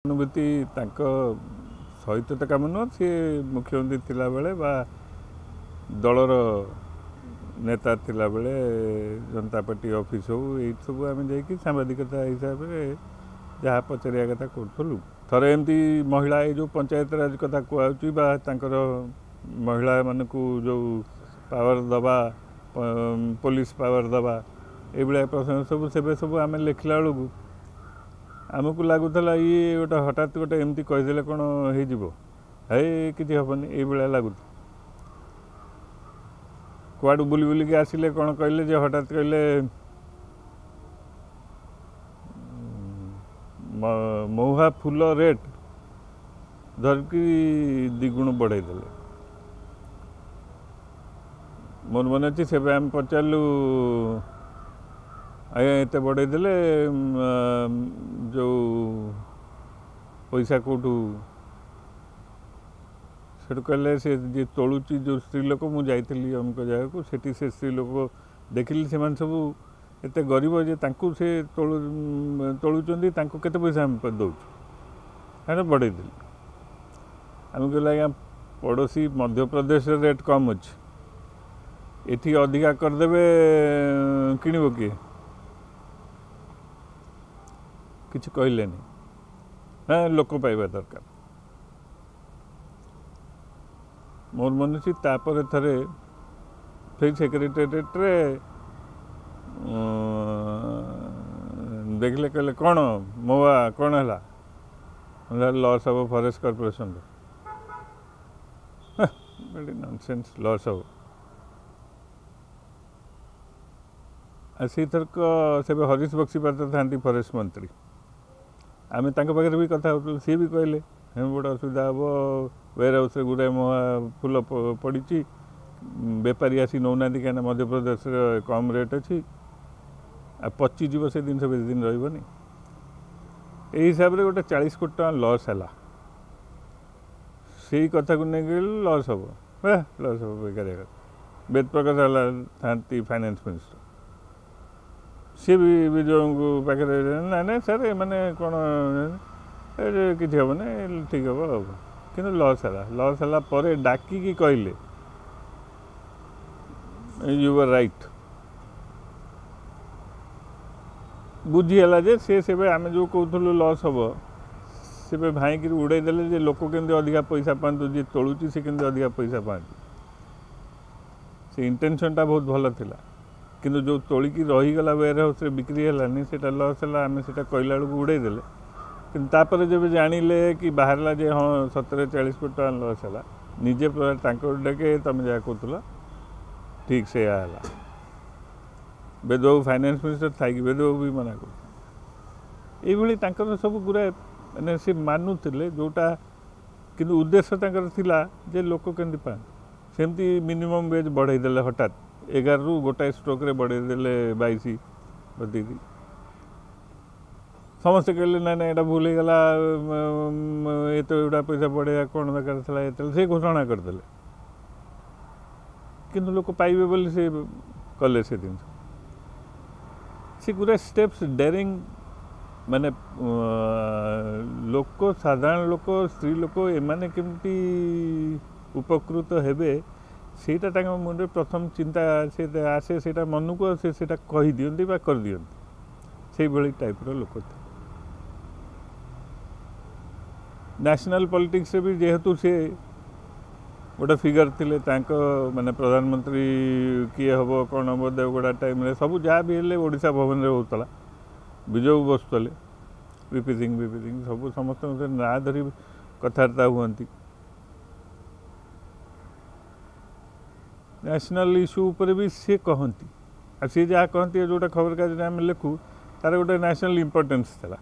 ଅନୁଭୂତି ତାଙ୍କ ସହିତ ତ କାମ ନୁହଁ, ସିଏ ମୁଖ୍ୟମନ୍ତ୍ରୀ ଥିଲାବେଳେ ବା ଦଳର ନେତା ଥିଲାବେଳେ ଜନତା ପାର୍ଟି ଅଫିସ୍ ହଉ ଏଇଠି ସବୁ ଆମେ ଯାଇକି ସାମ୍ବାଦିକତା ହିସାବରେ ଯାହା ପଚାରିବା କଥା କରୁଥିଲୁ। ଥରେ ଏମିତି ମହିଳା ଏଇ ଯେଉଁ ପଞ୍ଚାୟତରାଜ କଥା କୁହାହେଉଛି ବା ତାଙ୍କର ମହିଳାମାନଙ୍କୁ ଯେଉଁ ପାୱାର ଦେବା, ପୋଲିସ ପାୱାର ଦେବା, ଏଇଭଳିଆ ପ୍ରସଙ୍ଗ ସବୁ ସେବେ ସବୁ ଆମେ ଲେଖିଲା ବେଳକୁ ଆମକୁ ଲାଗୁଥିଲା ଇଏ ଗୋଟେ ହଠାତ୍ ଗୋଟେ ଏମିତି କହିଦେଲେ କ'ଣ ହେଇଯିବ, ହେଇ କିଛି ହେବନି ଏଇଭଳିଆ ଲାଗୁଥିଲା। କୁଆଡ଼ୁ ବୁଲି ବୁଲିକି ଆସିଲେ କ'ଣ କହିଲେ ଯେ ହଠାତ୍ କହିଲେ ମହୁଆ ଫୁଲ ରେଟ୍ ଧରିକି ଦ୍ୱିଗୁଣ ବଢ଼େଇ ଦେଲେ। ମୋର ମନେ ଅଛି ସେବେ ଆମେ ପଚାରିଲୁ, ଆଜ୍ଞା ଏତେ ବଢ଼େଇ ଦେଲେ ଯେଉଁ ପଇସା କେଉଁଠୁ? ସେଠୁ କହିଲେ ସେ ଯିଏ ତୋଳୁଛି ଯେଉଁ ସ୍ତ୍ରୀ ଲୋକ, ମୁଁ ଯାଇଥିଲି ଅମୁକ ଜାଗାକୁ, ସେଠି ସେ ସ୍ତ୍ରୀ ଲୋକ ଦେଖିଲି ସେମାନେ ସବୁ ଏତେ ଗରିବ ଯେ ତାଙ୍କୁ ସେ ତୋଳୁଛନ୍ତି, ତାଙ୍କୁ କେତେ ପଇସା ଆମେ ଦେଉଛୁ, ସେଇଟା ବଢ଼େଇ ଦେଲି। ଆମେ କହିଲୁ ଆଜ୍ଞା ପଡ଼ୋଶୀ ମଧ୍ୟପ୍ରଦେଶରେ ରେଟ୍ କମ୍ ଅଛି, ଏଠି ଅଧିକା କରିଦେବେ କିଣିବ କିଏ? କିଛି କହିଲେନି, ହଁ ଲୋକ ପାଇବା ଦରକାର। ମୋର ମନେ ଅଛି ତାପରେ ଥରେ ସେଇ ସେକ୍ରେଟେରିଏଟ୍ରେ ଦେଖିଲେ, କହିଲେ କ'ଣ ମହୁଆ କ'ଣ ହେଲା? ଲସ୍ ହେବ ଫରେଷ୍ଟ କର୍ପୋରେସନର। ନନସେନ୍ସ, ଲସ୍ ହେବ। ଆଉ ସେଇଥରକ ସେବେ ହରିଶ ବକ୍ସିପାତ୍ର ଥାନ୍ତି ଫରେଷ୍ଟ ମନ୍ତ୍ରୀ, ଆମେ ତାଙ୍କ ପାଖରେ ବି କଥା ହେଉଥିଲୁ। ସିଏ ବି କହିଲେ ହେମ ବଡ଼ ଅସୁବିଧା ହେବ, ୱେୟାର ହାଉସ୍ରେ ଗୁଡ଼ାଏ ମହୁଆ ଫୁଲ ପଡ଼ିଛି, ବେପାରୀ ଆସି ନେଉନାହାନ୍ତି କାହିଁକିନା ମଧ୍ୟପ୍ରଦେଶରେ କମ୍ ରେଟ୍ ଅଛି, ଆଉ ପଚିଯିବ ସେ ଜିନିଷ ବେଶୀ ଦିନ ରହିବନି। ଏଇ ହିସାବରେ ଗୋଟେ 40 କୋଟି ଟଙ୍କା ଲସ୍ ହେଲା। ସେଇ କଥାକୁ ନେଇକି ଲସ୍ ହେବ, ଲସ୍ ହେବ ବେକାରିଆ କଥା। ବେଦ ପ୍ରକାଶ ହେଲା ଥାନ୍ତି ଫାଇନାନ୍ସ ମିନିଷ୍ଟର, ସିଏ ବି ବିଜୟଙ୍କୁ ପାଖରେ ନାଇଁ ନାଇଁ ସାର୍ ଏମାନେ କ'ଣ କିଛି ହେବନି, ଠିକ୍ ହେବ ଆଉ। କିନ୍ତୁ ଲସ୍ ହେଲା। ଲସ୍ ହେଲା ପରେ ଡାକିକି କହିଲେ you R right. ବୁଝିହେଲା ଯେ ସେ ସେବେ ଆମେ ଯେଉଁ କହୁଥିଲୁ ଲସ୍ ହେବ, ସେବେ ଭାଇଁକିରି ଉଡ଼େଇ ଦେଲେ ଯେ ଲୋକ କେମିତି ଅଧିକା ପଇସା ପାଆନ୍ତୁ, ଯିଏ ତୋଳୁଛି ସେ କେମିତି ଅଧିକା ପଇସା ପାଆନ୍ତୁ। ସେ ଇଣ୍ଟେନସନ୍ଟା ବହୁତ ଭଲ ଥିଲା, କିନ୍ତୁ ଯେଉଁ ତୋଳିକି ରହିଗଲା ୱେୟାର ହାଉସ୍ରେ ବିକ୍ରି ହେଲାନି, ସେଇଟା ଲସ୍ ହେଲା। ଆମେ ସେଇଟା କହିଲା ବେଳକୁ ଉଡ଼େଇ ଦେଲେ। କିନ୍ତୁ ତାପରେ ଯେବେ ଜାଣିଲେ କି ବାହାରିଲା ଯେ ହଁ ସତରେ 40 କୋଟି ଟଙ୍କା ଲସ୍ ହେଲା, ନିଜେ ତାଙ୍କ ଡାକେ ତୁମେ ଯାହା କହୁଥିଲ ଠିକ୍ ସେଇଆ ହେଲା। ବେଦବାବୁ ଫାଇନାନ୍ସ ମିନିଷ୍ଟର ଥାଇକି ବେଦବାବୁ ବି ମନା କରୁଥିଲେ। ଏଇଭଳି ତାଙ୍କର ସବୁ ଗୁଡ଼ାଏ ମାନେ ସେ ମାନୁଥିଲେ ଯେଉଁଟା, କିନ୍ତୁ ଉଦ୍ଦେଶ୍ୟ ତାଙ୍କର ଥିଲା ଯେ ଲୋକ କେମିତି ପାଆନ୍ତୁ। ସେମିତି ମିନିମମ୍ ୱେଜ୍ ବଢ଼େଇ ଦେଲେ ହଠାତ୍, 11ରୁ ଗୋଟାଏ ଷ୍ଟ୍ରୋକ୍ରେ ବଢ଼େଇ ଦେଲେ 22 ବଢ଼େଇ। ସମସ୍ତେ କହିଲେ ନାଇଁ ନାଇଁ ଏଇଟା ଭୁଲ ହେଇଗଲା, ଏତେ ଗୁଡ଼ା ପଇସା ବଢ଼େଇବା କ'ଣ ଦରକାର ଥିଲା ଏତେ, ସେ ଘୋଷଣା କରିଦେଲେ। କିନ୍ତୁ ଲୋକ ପାଇବେ ବୋଲି ସେ କଲେ ସେ ଜିନିଷ। ସେ ଗୁଡ଼ା ଷ୍ଟେପ୍ସ ଡେରିଂ, ମାନେ ଲୋକ, ସାଧାରଣ ଲୋକ, ସ୍ତ୍ରୀ ଲୋକ ଏମାନେ କେମିତି ଉପକୃତ ହେବେ ସେଇଟା ତାଙ୍କ ମୁଣ୍ଡରେ ପ୍ରଥମ ଚିନ୍ତା ସେ ଆସେ, ସେଇଟା ମନକୁ, ଆଉ ସେ ସେଇଟା କହିଦିଅନ୍ତି ବା କରିଦିଅନ୍ତି। ସେଇଭଳି ଟାଇପ୍ର ଲୋକ ଥିଲେ। ନ୍ୟାସନାଲ୍ ପଲିଟିକ୍ସରେ ବି ଯେହେତୁ ସେ ଗୋଟେ ଫିଗର ଥିଲେ, ତାଙ୍କ ମାନେ ପ୍ରଧାନମନ୍ତ୍ରୀ କିଏ ହେବ କ'ଣ ହେବ ଦେବଗଡ଼ା ଟାଇମ୍ରେ ସବୁ ଯାହା ବି ହେଲେ ଓଡ଼ିଶା ଭବନରେ ହେଉଥିଲା, ବିଜୟ ବସୁଥିଲେ, ବିପି ସିଂ ବିପି ସିଂ ସବୁ ସମସ୍ତଙ୍କ ନାଁ ଧରି କଥାବାର୍ତ୍ତା ହୁଅନ୍ତି। ନ୍ୟାସନାଲ୍ ଇସ୍ୟୁ ଉପରେ ବି ସିଏ କହନ୍ତି, ଆଉ ସିଏ ଯାହା କହନ୍ତି ଯେଉଁଟା ଖବରକାଗଜରେ ଆମେ ଲେଖୁ ତାର ଗୋଟେ ନ୍ୟାସନାଲ୍ ଇମ୍ପୋର୍ଟାନ୍ସ ଥିଲା।